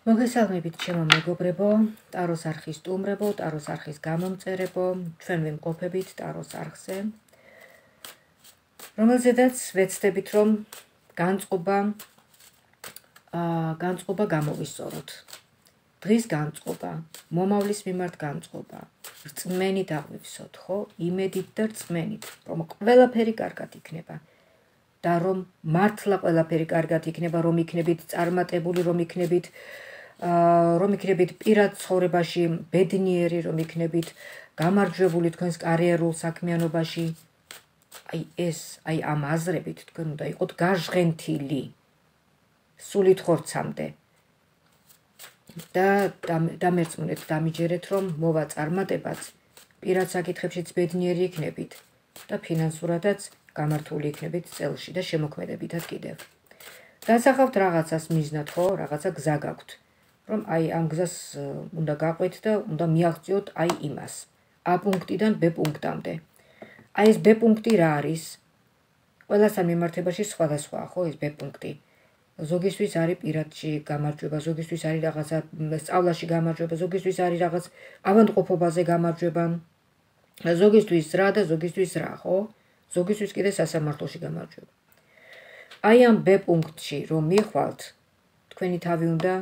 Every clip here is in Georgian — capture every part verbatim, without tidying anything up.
მოგესალმებით ჩემო მეგობრებო, ტაროს არხის სტუმრებო, ტაროს არხის გამომწერებო, ჩვენ ვიმყოფებით ტაროს არხზე, რომელზედაც ვეცდებით, რომ განწყობა, განწყობა გამოვისწოროთ. დღის განწყობა, მომავლის მიმართ განწყობა, რწმენით აღვივსოთ, ხო? იმედით და რწმენით, რომ ყველაფერი კარგად იქნება. და რომ მართლა ყველაფერი კარგად იქნება, რომ იქნებით წარმატებული, რომ იქნებით რომ იქნებით პირად ცხოვრებაში ბედნიერი, რომ იქნებით გამარჯვებული თქვენს კარიერულ საქმიანობაში, აი ეს, აი ამ აზრებით თქვენ უნდა იყოთ გაჟღენთილი სულით ხორცამდე და დამერწმუნეთ, დამიჯერეთ, რომ მოვა წარმატებაც, პირად საკითხებშიც ბედნიერი იქნებით და ფინანსურადაც გამართული იქნებით წელში და შემოქმედებითად კიდევ. დასახავთ რაღაცას მიზნად, ხო, რაღაცა გზა გაქვთ. რომ აი ამ გზას უნდა გაყვეთ და უნდა მიაღწიოთ აი იმას. A პუნქტიდან B პუნქტამდე. აი ეს B პუნქტი რა არის? ყველასთან მიმართებაში სხვადასხვა, ხო, ეს B პუნქტი. ზოგისთვის არის პირადში გამარჯვება, ზოგისთვის არის რაღაცა სწავლაში გამარჯვება, ზოგისთვის არის რაღაც ავადმყოფობაზე გამარჯვება. ზოგისთვის რა და ზოგისთვის რა, ხო? ზოგისთვის კიდე სასამართლოში გამარჯვება. აი ამ B პუნქტში რომ მიხვალთ, თქვენი თავი უნდა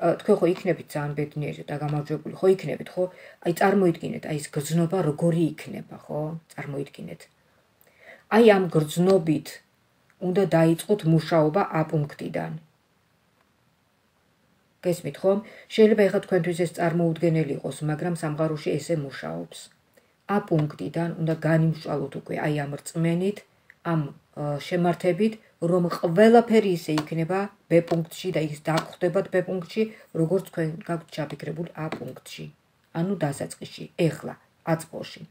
თქვენ ხო იქნებით ძალიან ბედნიერი და გამარჯვებული, ხო იქნებით, ხო? აი წარმოიდგინეთ, აი ეს გრძნობა როგორი იქნება, ხო? წარმოიდგინეთ. აი ამ გრძნობით უნდა დაიწყოთ მუშაობა A პუნქტიდან. გესმით, ხო? შეიძლება ეხლა თქვენთვის ეს წარმოუდგენელი იყოს, მაგრამ სამყაროში ესე მუშაობს. A პუნქტიდან უნდა განიმშვალოთ უკვე აი ამ რწმენით, ამ შემართებით, რომ ყველაფერი ისე იქნება B პუნქტში და ის დაგხვდებათ B პუნქტში, როგორც თქვენ გაქვთ ჩაფიქრებული A პუნქტში. ანუ დასაწყისში, ეხლა, აწყოში.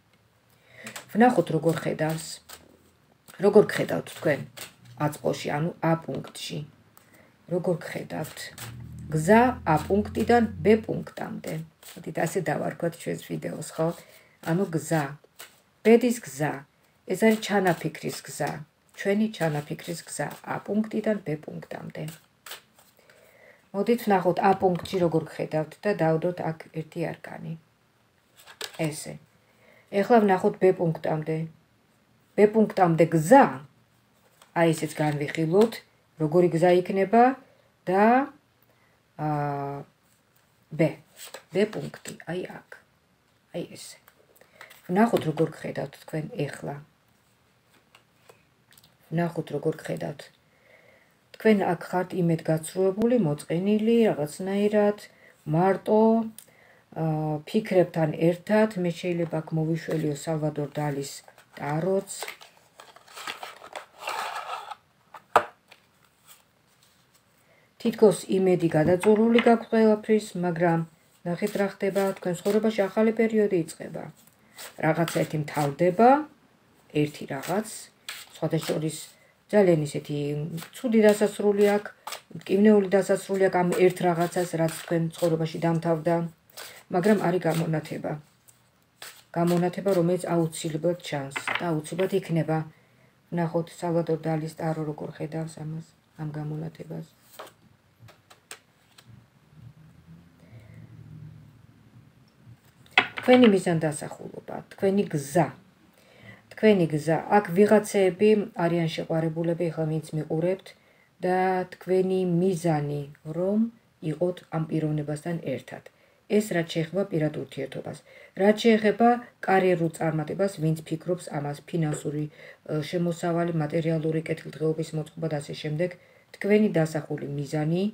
ვნახოთ როგორ ხედავს, როგორ ხედავთ თქვენ აწყოში, ანუ A პუნქტში. როგორ ხედავთ გზა A პუნქტიდან B პუნქტამდე. მოდით ასე დავარქვათ ჩვენს ვიდეოს, ხო? ანუ გზა, ბედის გზა, ეს არის ჩანაფიქრის გზა. ჩვენი ჩანაფიქრის გზა A პუნქტიდან B პუნქტამდე. მოდით ვნახოთ A პუნქტში როგორ ხედავთ და დავდოთ აქ ერთი არკანი. ესე. ეხლა ვნახოთ B პუნქტამდე. B პუნქტამდე გზა, აი ესეც განვიხილოთ, როგორი გზა იქნება და აა B. B პუნქტი, აი აქ. აი ესე. ვნახოთ როგორ ხედავთ თქვენ ეხლა. ვნახოთ როგორ ხედავთ. თქვენ აქ ხართ იმედგაცრუებული, მოწყენილი, რაღაცნაირად, მარტო, ფიქრებთან ერთად, მე შეიძლება აქ მოვიშველიო სალვადორ დალის ტაროც. თითქოს იმედი გადაწურული გაქვთ ყველაფრის, მაგრამ ნახეთ რა ხდება, თქვენ ცხოვრებაში ახალი პერიოდი იწყება. რაღაცა ერთი მთავრდება, ერთი რაღაც, სხვადასხვა ძალიან ისეთი ცუდი დასასრული აქვს, მტკივნეული დასასრული აქვს ამ ერთ რაღაცას, რაც თქვენ ცხოვრებაში დამთავრდა, მაგრამ არის გამონათება. გამონათება, რომელიც აუცილებლად ჩანს და აუცილებლად იქნება. ვნახოთ სალვადორ დალის ტარო როგორ ხედავს ამას, ამ გამონათებას. თქვენი მიზანდასახულობა, თქვენი გზა. თქვენი გზა, აქ ვიღაცეები არიან შეყვარებულები, ახლა ვინც მიყურებთ და თქვენი მიზანი, რომ იყოთ ამ პიროვნებასთან ერთად. ეს რაც შეეხება პირად ურთიერთობას, რაც შეეხება კარიერულ წარმატებას, ვინც ფიქრობს ამას, ფინანსური შემოსავალი, მატერიალური კეთილდღეობის მოწყობა და ასე შემდეგ, თქვენი დასახული მიზანი,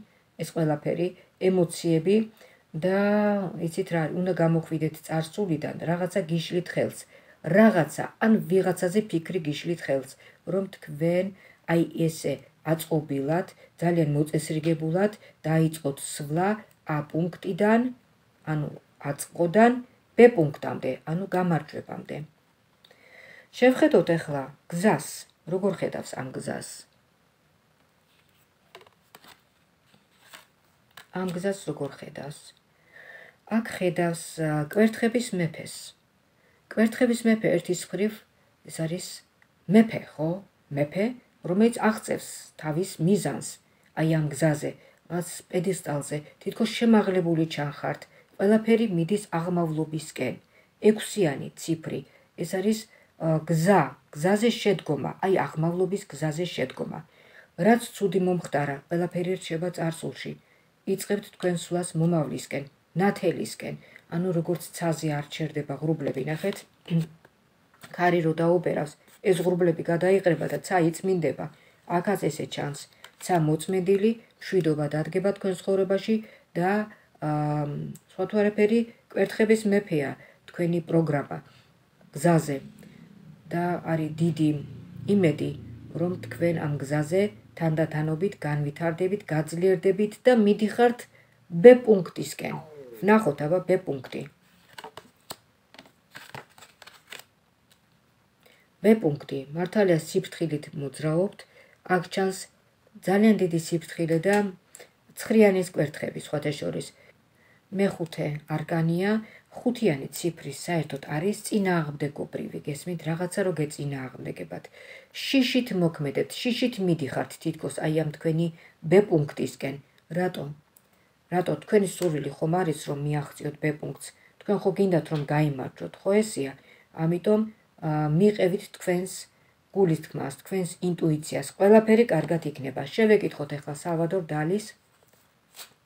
ეს ყველაფერი, ემოციები და იცით რა, უნდა გამოხვიდეთ წარსულიდან რაღაცა გიშლით ხელს. რაღაცა ან ვიღაცაზე ფიქრი გიშლით ხელს, რომ თქვენ აი ესე აწყობილად, ძალიან მოწესრიგებულად დაიწყოთ სვლა A პუნქტიდან, ანუ აწყოდან B პუნქტამდე, ანუ გამარჯვებამდე. შევხედოთ ახლა გზას, როგორ ხედავს ამ გზას. ამ გზას როგორ ხედავს. აქ ხედავს კვერთხების მეფეს. კვერთხების მეფე ერთის მხრივ ეს არის მეფე, ხო? მეფე, რომელიც აღწევს თავის მიზანს, აი ამ გზაზე, რაც პედესტალზე თითქოს შემაღლებული ჩანხართ. ყველაფერი მიდის აღმავლობისკენ. ექვსიანი ციფრი. ეს არის გზა, გზაზე შედგომა, აი აღმავლობის გზაზე შედგომა. რაც ცუდი მომხდარა, ყველაფერი რჩება წარსულში. იწყებთ თქვენ სვლას მომავლისკენ, ნათელისკენ. ანუ როგორც ცაზე არ ჩერდება ღრუბლები, ნახეთ? ქარი რო დაუბერავს, ეს ღრუბლები გადაიყრება და ცა იწმინდება. აქაც ესე ჩანს. ცა მოწმენდილი, მშვიდობა დადგება თქვენ ცხოვრებაში და სხვა თუ არაფერი კვერთხების მეფეა თქვენი პროგრამა გზაზე. და არის დიდი იმედი, რომ თქვენ ამ გზაზე თანდათანობით განვითარდებით, გაძლიერდებით და მიდიხართ B პუნქტისკენ. ვნახოთ აბა B პუნქტი. B პუნქტი მართალია სიფრთხილით მოძრაობთ, აქ ჩანს ძალიან დიდი სიფრთხილე და ცხრიანის კვერთხები სხვათა შორის. მეხუთე არკანია, ხუთიანი ციფრის საერთოდ არის წინააღმდეგობრივი, გესმით, რაღაცა რო გეწინააღმდეგებათ. შიშით მოქმედებთ, შიშით მიდიხართ თითქოს აი ამ თქვენი B პუნქტისკენ. რატომ? რატო თქვენი სურვილი ხომ არის რომ მიაღწიოთ B პუნქტს? თქვენ ხო გინდათ რომ გაიმარჯვოთ, ხო ესეა? ამიტომ მიყევით თქვენს გულის თქმას, თქვენს ინტუიციას, ყველაფერი კარგად იქნება. შევეკითხოთ ახლა სალვადორ დალის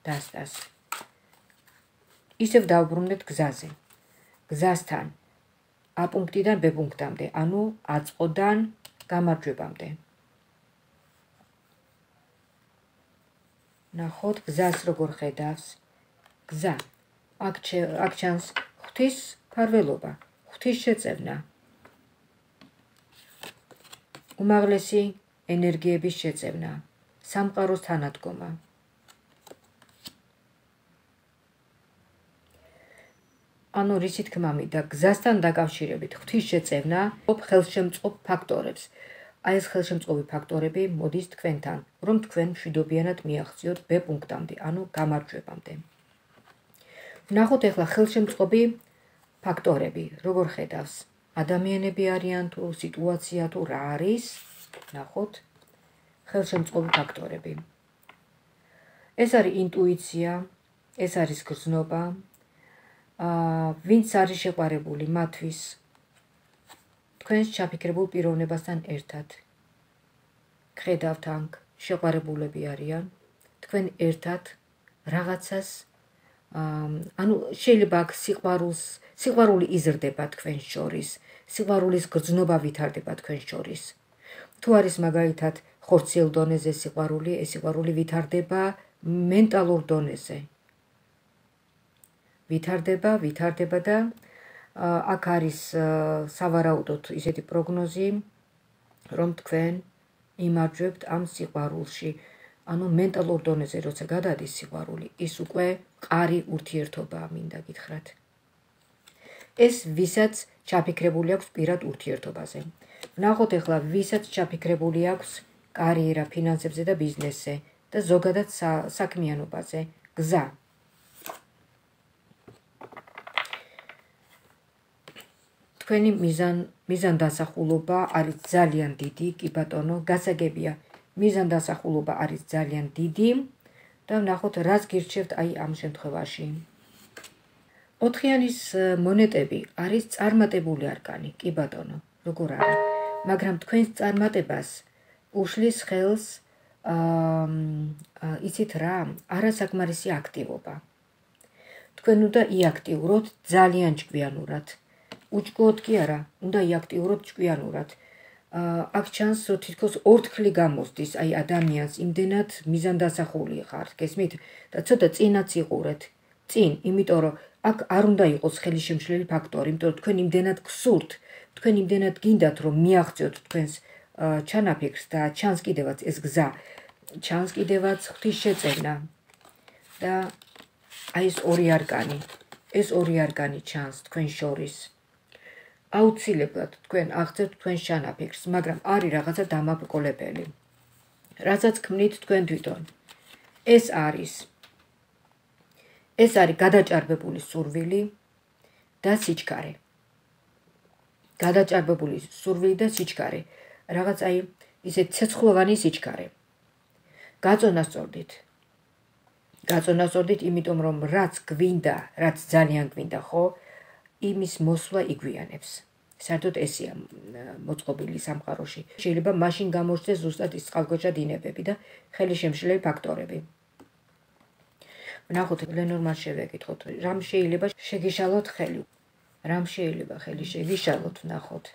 დასტას. ისევ დავბრუნდეთ გზაზე. გზასთან A პუნქტიდან B პუნქტამდე, ანუ აწყოდან გამარჯვებამდე. ნახოთ გზას როგორ ხედავს. გზა. აქ ჩანს ღვთის მფარველობა, ღვთის შეწევნა. უმაღლესი ენერგიების შეწევნა, სამყაროს თანადგომა. ანუ რისი თქმა მინდა, გზასთან დაკავშირებით ღვთის შეწევნა ხელშემწყობ ფაქტორებს. აი ეს ხელშემწყობი ფაქტორები მოდის თქვენთან, რომ თქვენ მშვიდობიანად მიაღწიოთ B პუნქტამდე, ანუ გამარჯვებამდე. ვნახოთ ახლა ხელშემწყობი ფაქტორები, როგორ ხედავს. ადამიანები არიან თუ სიტუაცია თუ რა არის, ნახოთ ხელშემწყობი ფაქტორები. ეს არის ინტუიცია, ეს არის გრძნობა, ვინც არის შეყვარებული მათთვის თქვენს ჩაფიქრებულ პიროვნებასთან ერთად. გხედავთ ანკ შეყვარებულები არიან, თქვენ ერთად რაღაცას ანუ შეიძლება აქ სიყვარულს, სიყვარული იზრდება თქვენ შორის, სიყვარულის გრძნობა ვითარდება თქვენ შორის. თუ არის მაგალითად ხორციელ დონეზე სიყვარული, ეს სიყვარული ვითარდება მენტალურ დონეზე. ვითარდება, ვითარდება და აქ არის სავარაუდოდ ისეთი პროგნოზი, რომ თქვენ იმარჯვებთ ამ სიყვარულში. ანუ მენტალურ დონეზე როცა გადადის სიყვარული, ის უკვე მყარი ურთიერთობაა, მინდა გითხრათ. ეს ვისაც ჩაფიქრებული აქვს პირად ურთიერთობაზე. ვნახოთ ახლა ვისაც ჩაფიქრებული აქვს კარიერა, ფინანსებზე და ბიზნესზე და ზოგადად საქმიანობაზე. გზა. თქვენი მიზანდასახულობა არის ძალიან დიდი, კი ბატონო, გასაგებია. მიზანდასახულობა არის ძალიან დიდი და ვნახოთ რას გირჩევთ აი ამ შემთხვევაში. ოთხიანის მონეტები არის წარმატებული არკანი, კი ბატონო, როგორ არის, მაგრამ თქვენს წარმატებას უშლის ხელს იცით რა, არასაკმარისი აქტივობა. თქვენ უნდა იაქტიუროთ ძალიან ჭკვიანურად. უჭკუოთ კი არა, უნდა იაქტიუროთ ჭკვიანურად. აქ ჩანს, რომ თითქოს ორთქლი გამოსდის აი ადამიანს, იმდენად მიზანდასახული ხართ, გესმით? და ცოტა წინაც იყურეთ. წინ, იმიტომ რომ აქ არ უნდა იყოს ხელისშემშლელი ფაქტორი, იმიტომ რომ თქვენ იმდენად გსურთ, თქვენ იმდენად გინდათ, რომ მიაღწიოთ თქვენს ჩანაფიქრს და ჩანს კიდევაც ეს გზა, ჩანს კიდევაც ღვთის შეწევნა. და აი ეს ორი არკანი, ეს ორი არკანი ჩანს თქვენ შორის. აუცილებლად თქვენ აღწევთ თქვენს ჩანაფიქრს, მაგრამ არის რაღაცა დამაბრკოლებელი. რასაც ქმნით თქვენ თვითონ. ეს არის ეს არის გადაჭარბებული სურვილი და სიჩქარე. გადაჭარბებული სურვილი და სიჩქარე. რაღაც აი ისე ცეცხლოვანი სიჩქარე. გაწონასწორდით. გაწონასწორდით, იმიტომ რომ რაც გვინდა, რაც ძალიან გვინდა, ხო, იმის მოსვლა იგვიანებს. საერთოდ ესეა მოწყობილი სამყაროში. შეიძლება მაშინ გამოჩნდეს ზუსტად ის წყალქვეშა დინებები და ხელი შემშლელი ფაქტორები. ვნახოთ, ლენორმას შევეკითხოთ, რამ შეიძლება შეგიშალოთ ხელი? რამ შეიძლება ხელი შეგიშალოთ, ვნახოთ.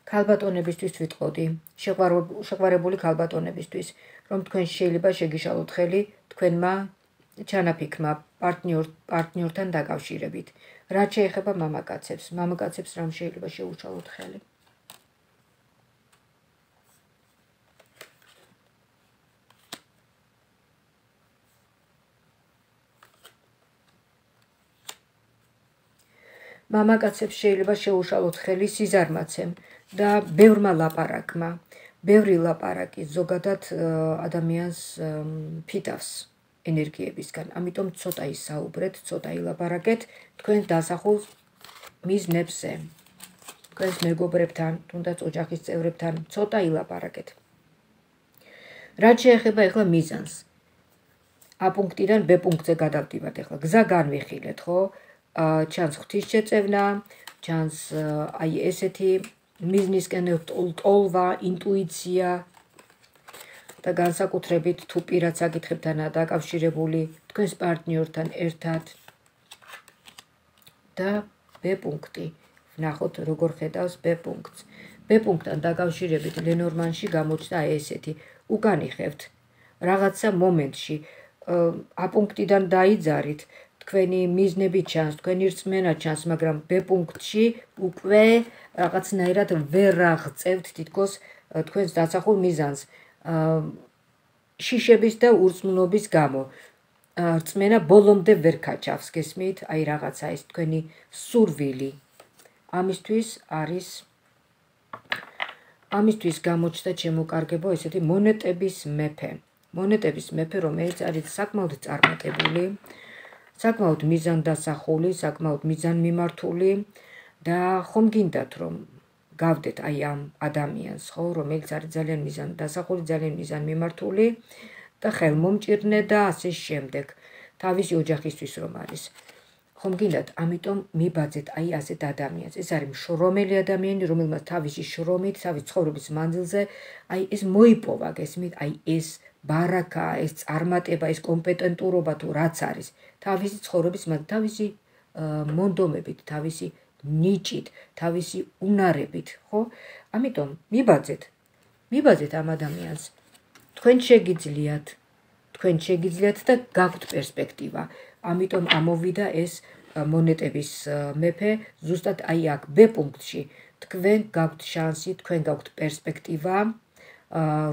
ქალბატონებისთვის ვიტყოდი, შეყვარებული ქალბატონებისთვის, რომ თქვენ შეიძლება შეგიშალოთ ხელი თქვენმა ჩანაფიქრმა პარტნიორთან დაკავშირებით. რაც შეეხება მამაკაცებს, მამაკაცებს რამ შეიძლება შეუშალოთ ხელი? მამაკაცებს შეიძლება შეუშალოთ ხელი სიზარმაცემ და ბევრმა ლაპარაკმა. ბევრი ლაპარაკი ზოგადად ადამიანს ფიტავს ენერგიებისგან. ამიტომ ცოტა ისაუბრეთ, ცოტა ილაპარაკეთ თქვენ დასახულ მიზნებზე. თქვენს მეგობრებთან, თუნდაც ოჯახის წევრებთან ცოტა ილაპარაკეთ. რაც შეეხება ეხლა მიზანს. A პუნქტიდან B პუნქტზე გადავდივართ ეხლა. გზა განვიხილეთ, ხო? ჩანს ღვთისშეწევნა, ჩანს აი ესეთი მიზნისკენ ტოლვა, ინტუიცია და განსაკუთრებით თუ პირად საკითხებთანაა დაკავშირებული თქვენს პარტნიორთან ერთად და B პუნქტი. ვნახოთ როგორ ხედავს B პუნქტს. B პუნქტთან დაკავშირებით ლენორმანში გამოჩნდა აი ესეთი. უკან იხევთ რაღაცა მომენტში A პუნქტიდან დაიძარით, თქვენი მიზნები ჩანს, თქვენი რწმენა ჩანს, მაგრამ B პუნქტში უკვე რაღაცნაირად ვერ აღწევთ თითქოს თქვენს დასახულ მიზანს. შიშების და ურწმუნობის გამო. რწმენა ბოლომდე ვერ გაჩავს, გესმით? აი რაღაცა ის თქვენი სურვილი. ამისთვის არის ამისთვის გამოჩნდა ჩემოკარგებო ესეთი მონეტების მეფე. მონეტების მეფე, რომელიც არის საკმაოდ წარმატებული, საკმაოდ მიზანდასახული, საკმაოდ მიზანმიმართული და ხომ გინდათ რომ გავდეთ აი ამ ადამიანს, ხო, რომელიც არის ძალიან მიზანდასახული, ძალიან მიზანმიმართული და ხელმომჭირნე და ასე შემდეგ. თავისი ოჯახისთვის რომ არის. ხომ გინდათ, ამიტომ მიბაძეთ აი ასეთ ადამიანს. ეს არის მშრომელი ადამიანი, რომელმაც თავისი შრომით, თავის ცხოვრების მანძილზე აი ეს მოიპოვა, გესმით? აი ეს ბარაკა, ეს წარმატება, ეს კომპეტენტურობა თუ რაც არის, თავისი ცხოვრების მანძილზე, თავისი მონდომებით, თავისი ნიჭით, თავისი უნარებით, ხო? ამიტომ მიბაძეთ. მიბაძეთ ამ ადამიანს. თქვენ შეგიძლიათ, თქვენ შეგიძლიათ და გაქვთ პერსპექტივა. ამიტომ ამოვიდა ეს მონეტების მეფე ზუსტად აი აქ B პუნქტში. თქვენ გაქვთ შანსი, თქვენ გაქვთ პერსპექტივა,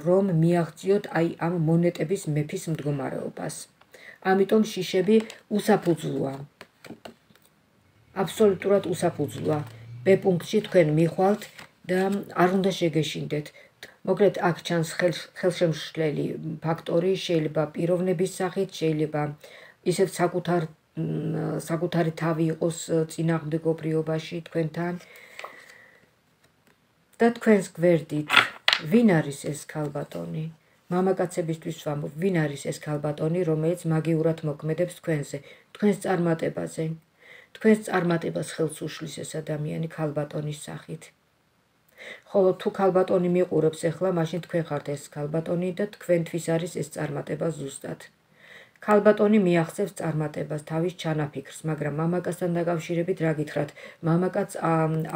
რომ მიაღწიოთ აი ამ მონეტების მეფის მდგომარეობას. ამიტომ შიშები უსაფუძვლოა. აბსოლუტურად უსაფუძვლოა. B პუნქტში თქვენ მიხვალთ და არ უნდა შეგეშინდეთ. მოკლედ აქ ჩანს ხელშემშლელი ფაქტორი, შეიძლება პიროვნების სახით, შეიძლება ისევ საკუთარ საკუთარი თავი იყოს წინააღმდეგობრიობაში თქვენთან და თქვენს გვერდით ვინ არის ეს ქალბატონი? მამაკაცებისთვის ვამბობ, ვინ არის ეს ქალბატონი, რომელიც მაგიურად მოქმედებს თქვენზე, თქვენს წარმატებაზე. თქვენს წარმატებას ხელს უშლის ეს ადამიანი ქალბატონის სახით. ხოლო თუ ქალბატონი მიყურებს ახლა, მაშინ თქვენ ხართ ეს ქალბატონი და თქვენთვის არის ეს წარმატება ზუსტად. ქალბატონი მიაღწევს წარმატებას, თავის ჩანაფიქრს, მაგრამ მამაკაცთან დაკავშირებით რა გითხრათ, მამაკაც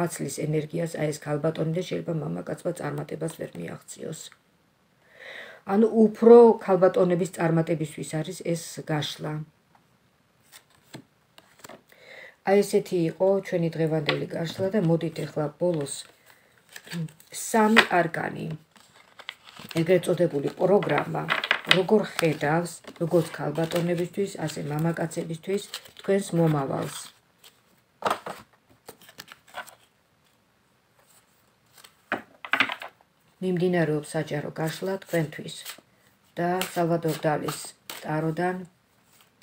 აცლის ენერგიას აი ეს ქალბატონი და შეიძლება მამაკაცმა წარმატებას ვერ მიაღწიოს. ანუ უფრო ქალბატონების წარმატებისთვის არის ეს გაშლა. აი ესეთი იყო ჩვენი დღევანდელი გაშლა და მოდით ახლა ბოლოს სამი არკანი, ეგრეთ წოდებული პროგრამა, როგორ ხედავს, როგორც ქალბატონებისთვის, ასე მამაკაცებისთვის თქვენს მომავალს. მიმდინარეობს საჯარო გაშლა თქვენთვის და სალვადორ დალის ტაროდან,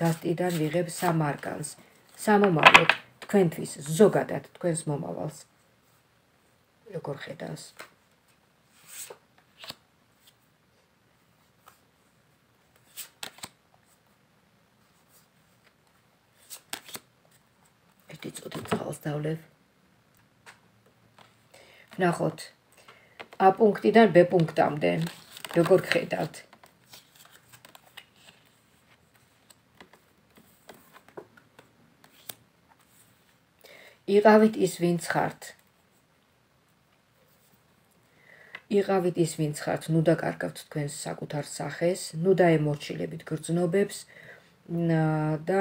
დასტიდან ვიღებ სამ არკანს. სამომავლოდ თქვენთვის, ზოგადად თქვენს მომავალს. როგორ ხედავს? ერთი წუთი წყალს დავლევ. ნახოთ. A პუნქტიდან B პუნქტამდე როგორ ხედავთ? იყავით ის ვინც ხართ. იყავით ის ვინც ხართ, ნუ დაკარგავთ თქვენს საკუთარ სახეს, ნუ დაემორჩილებით გრძნობებს და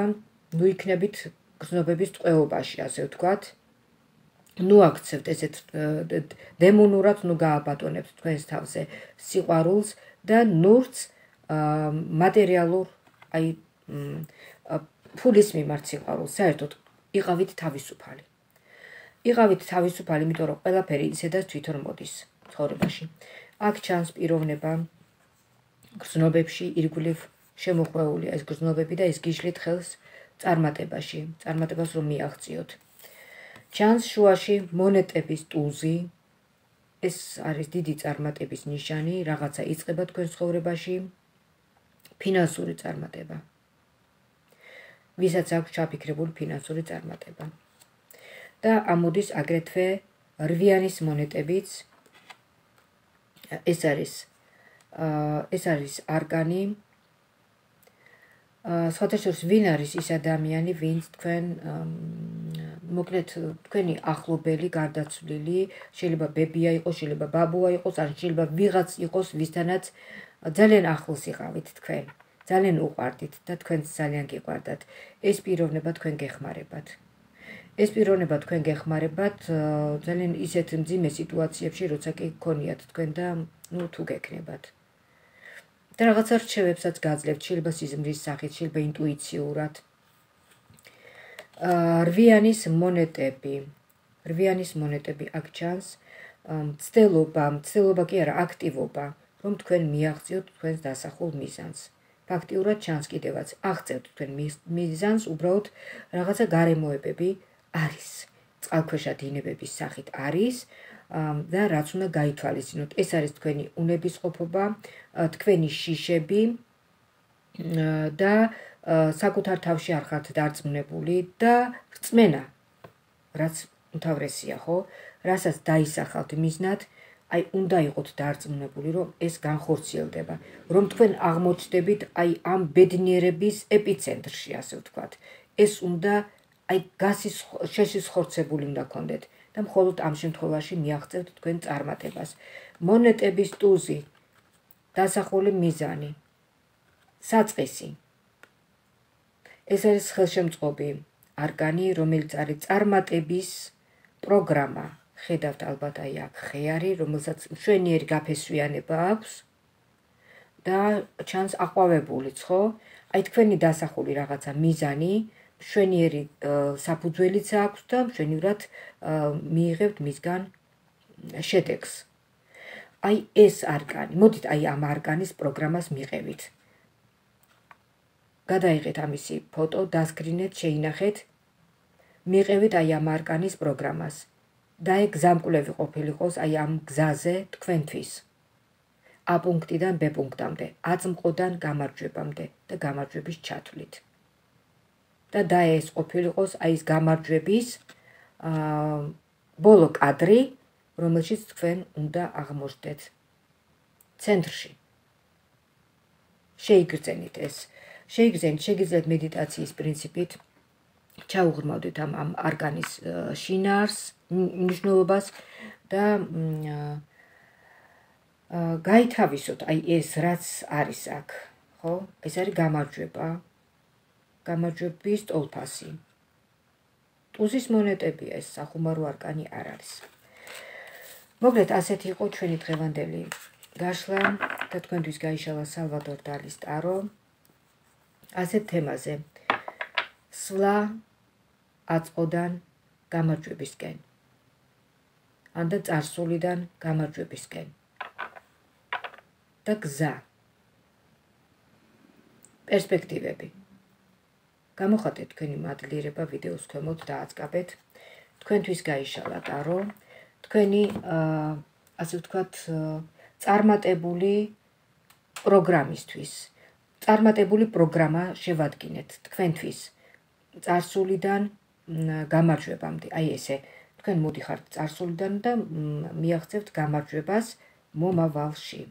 ნუ იქნებით გრძნობების ტყვეობაში, ასე ვთქვათ. ნუ აქცევთ ესეთ დემონურად, ნუ გააბატონებთ თქვენს თავზე სიყვარულს და ნურც მატერიალურ, აი ფულის მიმართ სიყვარულს, საერთოდ იყავით თავისუფალი. იყავით თავისუფალი, იმიტომ რომ ყველაფერი ისედაც თვითონ მოდის ცხოვრებაში. აქ ჩანს პიროვნება გრძნობებში ირგვლივ შემოხვეულია ეს გრძნობები და ეს გიშლით ხელს წარმატებაში, წარმატებას რომ მიაღწიოთ. ჩანს შუაში მონეტების ტუზი, ეს არის დიდი წარმატების ნიშანი, რაღაცა იწყება თქვენ ცხოვრებაში, ფინანსური წარმატება. ვისაც აქვს ჩაფიქრებული ფინანსური წარმატება. და ამოდის აგრეთვე რვიანის მონეტებიც. ეს არის ეს არის არკანი. სხვათა შორის ვინ არის ის ადამიანი, ვინც თქვენ მოკლედ თქვენი ახლობელი, გარდაცვლილი, შეიძლება ბებია იყოს, შეიძლება ბაბუა იყოს, ან შეიძლება ვიღაც იყოს, ვისთანაც ძალიან ახლოს იყავით თქვენ. ძალიან უყვარდით და თქვენც ძალიან გიყვარდათ. ეს პიროვნება თქვენ გეხმარებათ. ეს პიროვნება თქვენ გეხმარებათ ძალიან ისეთ მძიმე სიტუაციებში, როცა კი გქონიათ თქვენ და ნუ თუ გექნებათ. და რაღაცა რჩევებსაც გაძლევთ, შეიძლება სიზმრის სახით, შეიძლება ინტუიციურად. რვიანის მონეტები. რვიანის მონეტები აქ ჩანს. მცდელობა, მცდელობა კი არა, აქტივობა, რომ თქვენ მიაღწიოთ თქვენს დასახულ მიზანს. ფაქტიურად ჩანს კიდევაც, აღწევთ თქვენ მიზანს, უბრალოდ რაღაცა გარემოებები არის. წყალქვეშა დინებების სახით არის და რაც უნდა გაითვალისწინოთ. ეს არის თქვენი უნებისყოფობა, თქვენი შიშები და საკუთარ თავში არ ხართ დარწმუნებული და რწმენა, რაც უმთავრესია, ხო? რასაც დაისახავთ მიზნად, აი უნდა იყოთ დარწმუნებული, რომ ეს განხორციელდება, რომ თქვენ აღმოჩნდებით აი ამ ბედნიერების ეპიცენტრში, ასე ვთქვათ. ეს უნდა აი გასის შესისხორცებული უნდა გქონდეთ და მხოლოდ ამ შემთხვევაში მიაღწევთ თქვენ წარმატებას. მონეტების ტუზი, დასახული მიზანი, საწყისი. ეს არის ხელშემწყობი არკანი, რომელიც არის წარმატების პროგრამა. ხედავთ ალბათ აი აქ ხეარი, რომელსაც მშვენიერი გაფესვიანება აქვს და ჩანს აყვავებულიც, ხო? აი თქვენი დასახული რაღაცა მიზანი, მშვენიერი საფუძველიც აქვს და მშვენივრად მიიღებთ მისგან შედეგს. აი ეს არკანი, მოდით აი ამ არკანის პროგრამას მიყევით. გადაიღეთ ამისი ფოტო, დასკრინეთ, შეინახეთ. მიყევით აი ამ არკანის პროგრამას. და ეგ გზამკვლევი ყოფილიყოს აი ამ გზაზე თქვენთვის. A პუნქტიდან B პუნქტამდე, აწმყოდან გამარჯვებამდე და გამარჯვების ჩათვლით. და და ეს ყოფილიყოს აი ეს გამარჯვების ბოლო კადრი, რომელშიც თქვენ უნდა აღმოჩნდეთ ცენტრში. შეიგრძენით ეს. შეიგრძენით, შეგიძლიათ მედიტაციის პრინციპით ჩაუღრმავდით ამ ამ არკანის შინაარს, მნიშვნელობას და გაითავისოთ აი ეს რაც არის აქ, ხო? ეს არის გამარჯვება, გამარჯვების ტოლფასი. ტუზის მონეტებია ეს, სახუმარო არკანი არ არის. მოკლედ ასეთი იყო ჩვენი დღევანდელი გაშლა და თქვენთვის გაიშალა სალვადორ დალის ტარო. ასეთ თემაზე. სვლა აწყოდან გამარჯვებისკენ. ანდა წარსულიდან გამარჯვებისკენ. და გზა. პერსპექტივები. გამოხატეთ თქვენი მადლიერება ვიდეოს ქვემოთ და აწყაბეთ. თქვენთვის გაიშალა ტარო. თქვენი ასე ვთქვათ წარმატებული პროგრამისთვის. წარმატებული პროგრამა შევადგინეთ თქვენთვის წარსულიდან გამარჯვებამდე. აი ესე, თქვენ მოდიხართ წარსულიდან და მიაღწევთ გამარჯვებას მომავალში.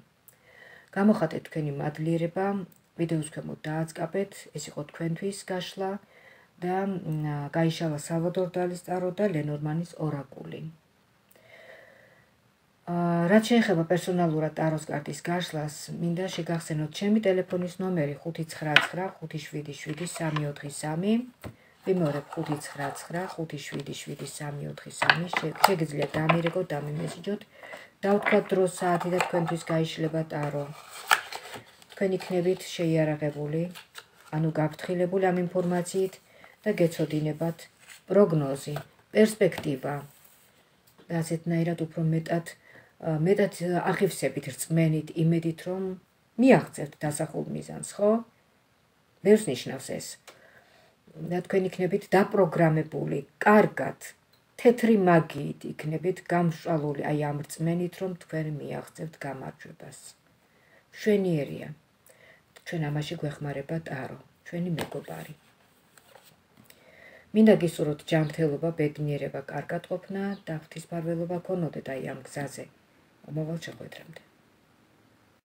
გამოხატეთ თქვენი მადლიერება, ვიდეოს ქვემოთ დააწყაბეთ, ეს იყო თქვენთვის გაშლა და გაიშალა სალვადორ დალის ტარო და ლენორმანის ორაკული. რაც შეეხება პერსონალურად ტაროს კარტის გაშლას, მინდა შეგახსენოთ ჩემი ტელეფონის ნომერი ხუთი ცხრა ცხრა ხუთი შვიდი შვიდი სამი ოთხი სამი. ვიმეორებ ხუთი ცხრა ცხრა ხუთი შვიდი შვიდი სამი ოთხი სამი. შეგიძლიათ დამირეკოთ, დამიმესიჯოთ, დავთქვათ დრო, საათი და თქვენთვის გაიშლება ტარო. თქვენ იქნებით შეიარაღებული, ანუ გაფრთხილებული ამ ინფორმაციით და გეცოდინებათ პროგნოზი, პერსპექტივა და ასეთნაირად უფრო მეტად მეტად აღივსებით, რწმენით, იმედით, რომ მიაღწევთ დასახულ მიზანს, ხო? ბევრს ნიშნავს ეს. და თქვენ იქნებით დაპროგრამებული, კარგად, თეთრი მაგიით იქნებით გამსჭვალული აი ამ რწმენით, რომ თქვენ მიაღწევთ გამარჯვებას. მშვენიერია. ჩვენ ამაში გვეხმარება ტარო, ჩვენი მეგობარი. მინდა გისურვოთ ჯანმრთელობა, ბედნიერება, კარგად ყოფნა და ღვთისმფარველობა გქონოდეთ აი ამ გზაზე. მომავალ შეხვედრამდე.